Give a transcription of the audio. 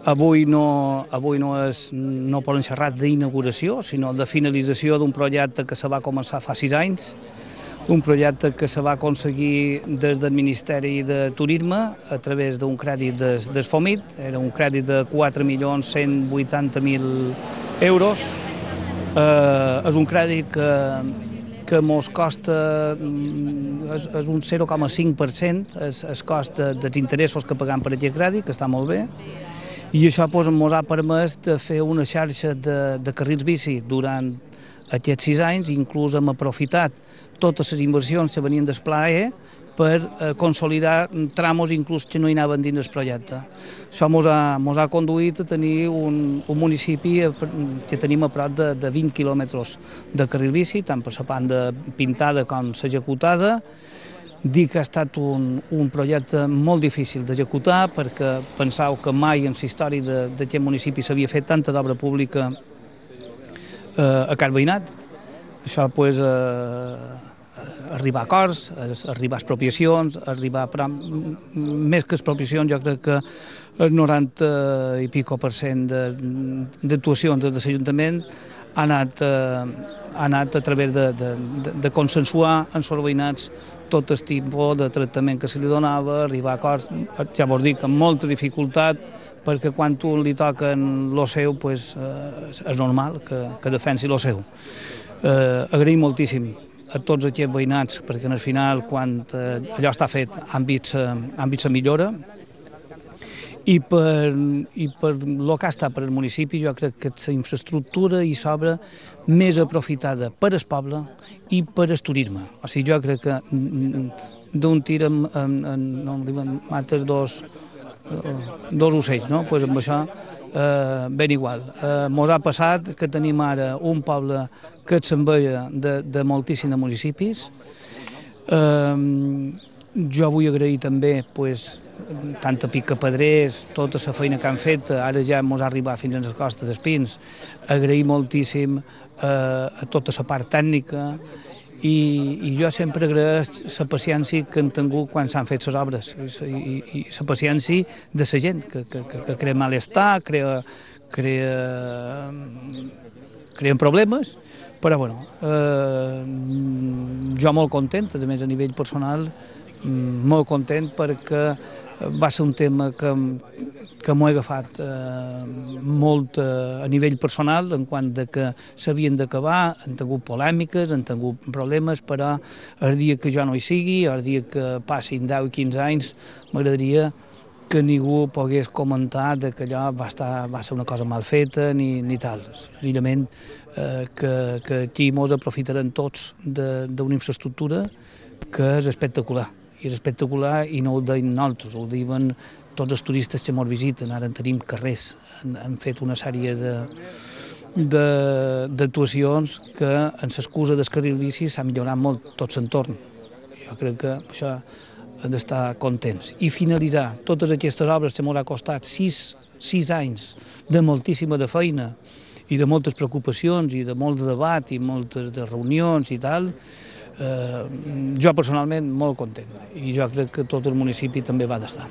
no poden xerrar d'inauguració, sinó de finalització d'un projecte que se va començar fa 6 anys, un projecte que se va aconseguir des del Ministeri de Turisme a través d'un crèdit del FOMIT, era un crèdit de 4.180.000 euros. És un crèdit que mos costa, és un 0,5%, el cost dels interessos que paguem per aquest crèdit, que està molt bé, i això mos ha permès de fer una xarxa de carrils bici durant aquests 6 anys, inclús hem aprofitat totes les inversions que venien del Pla E per consolidar tramos inclús que no hi anaven dins del projecte. Això mos ha conduït a tenir un municipi que tenim a prop de 20 quilòmetres de carril bici, tant per la banda pintada com l'executada. Dic que ha estat un projecte molt difícil d'executar perquè penseu que mai en la història d'aquest municipi s'havia fet tanta d'obra pública a car veïnat. Això, arribar a acords, arribar a expropiacions, però més que expropiacions jo crec que el 90 i pico % d'actuacions des de l'Ajuntament ha anat a través de consensuar amb els veïnats tot el tipus de tractament que se li donava, arribar a acords, ja vos dic, amb molta dificultat, perquè quan tu li toquen lo seu és normal que defensi lo seu. Agraïm moltíssim a tots aquests veïnats, perquè al final, quan allò està fet, han vist la millora, i per el que ha estat per al municipi, jo crec que la infraestructura hi s'obra més aprofitada per al poble i per al turisme. O sigui, jo crec que d'un tir mates dos ocells, no? Pues amb això ben igual. Mos ha passat que tenim ara un poble que s'enveja de moltíssims municipis. Jo vull agrair també tant a Picapedrers, tota la feina que han fet, ara ja mos ha arribat fins a les Costes d'Espins, agrair moltíssim a tota la part tècnica, i jo sempre agraeix la paciència que han tingut quan s'han fet les obres i la paciència de la gent, que crea malestar, creen problemes, però bueno, jo molt content, a més a nivell personal, molt content perquè va ser un tema que m'ho he agafat molt a nivell personal, en quant que s'havien d'acabar, han tingut polèmiques, han tingut problemes, però el dia que jo no hi sigui, el dia que passin 10 i 15 anys, m'agradaria que ningú pogués comentar que allò va ser una cosa mal feta ni tal. Senzillament que aquí mos aprofitarem tots d'una infraestructura que és espectacular. I és espectacular i no ho deim nosaltres, ho diuen tots els turistes que ens visiten. Ara en tenim carrers, han fet una sèrie d'actuacions que en l'excusa del carril bici s'ha millorat molt tot l'entorn. Jo crec que això hem d'estar contents. I finalitzar totes aquestes obres que ens ha costat 6 anys de moltíssima de feina i de moltes preocupacions i de molt de debat i moltes de reunions i tal, jo personalment molt content, i jo crec que tot el municipi també va d'estar.